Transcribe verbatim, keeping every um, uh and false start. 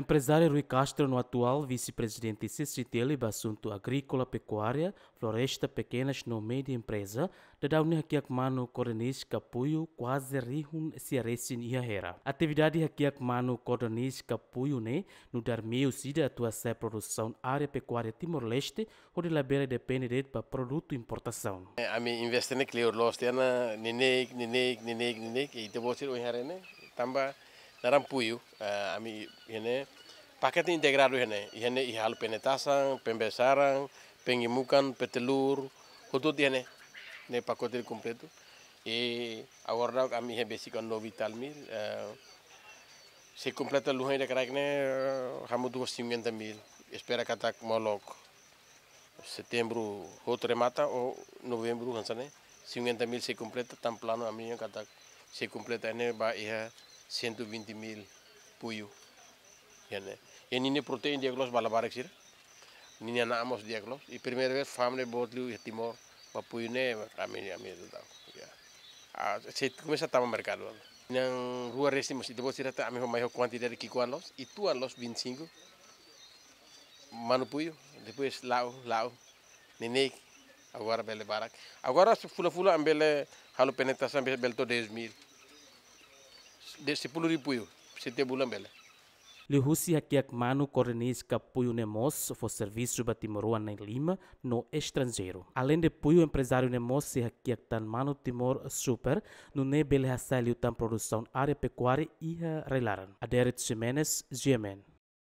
Emprezáriu Rui Castro no atuál vise-prezidente C C T L ba asuntu agríkola, pekuária, floresta, pekenas no média empreza, daudaun ne'e hakiak manu kordenis ka puiu kuaze rihun sia resin iha Hera. Atividade hakiak manu kordenis ka puiu ne'e nu'udar meiu ida atu hasa'e produsaun área pekuária Timor-Leste, hodi labele depende de'it ba produtu importasaun. Ami investe ne'e kleur loos tiha ona neineik, neineik, neineik, neineik, i ita-boot sira ohin haree ne'e, tanba naran puiu, eh, ami iha ne'e pakete integradu iha ne'e, iha ne'e iha halo pene-tasan, pembe saran, penge mukan, petelur, hotu-hotu iha ne'e, ne'e pakote kompletu. I agora daudaun ami iha besik nove e tal mil, eh, sei kompleta luhan ida kraik ne'e, eh, hamutuk ho cinquenta mil, espera katak molok setembru hotu remata ou novembru hanesan ne'e, cinquenta mil sei kompleta, tan planu ami-nian katak sei kompleta ne'e ba iha cento e vinte mil puiu. Iha ne'e. I ninia protein di'ak loos ba labarik sira. Ninia na'an mós di'ak loos. I primeira vez fa'an ne'e boot liu iha Timor ba puiu ne'e ami, ami daudaun. Ya. Ah, sei komesa tama merkadu. Na'an rua resin mós ita-boot sira hatene ami ho mai ho kuantidade ki'ikoan loos, ituan loos vinte e cinco. Manu puiu, depois la'o, la'o, neineik, agora bele barak. Agora se fulan-fulan ami bele halo pene-tasan bele, bele to'o dez mil. De sepuluh ribu puiu, setiap bulan bele. Liuhusi hakiak manu kordenis ka puiu ne'e mós fó servisu ba timoroan na'in-lima no estranjeiru. Aleinde puiu, emprezáriu ne'e mós sei hakiak tan manu Timor Super, nune'e bele hasa'e liután produsaun área pekuária iha rai-laran. Adérito Ximenes, G M N.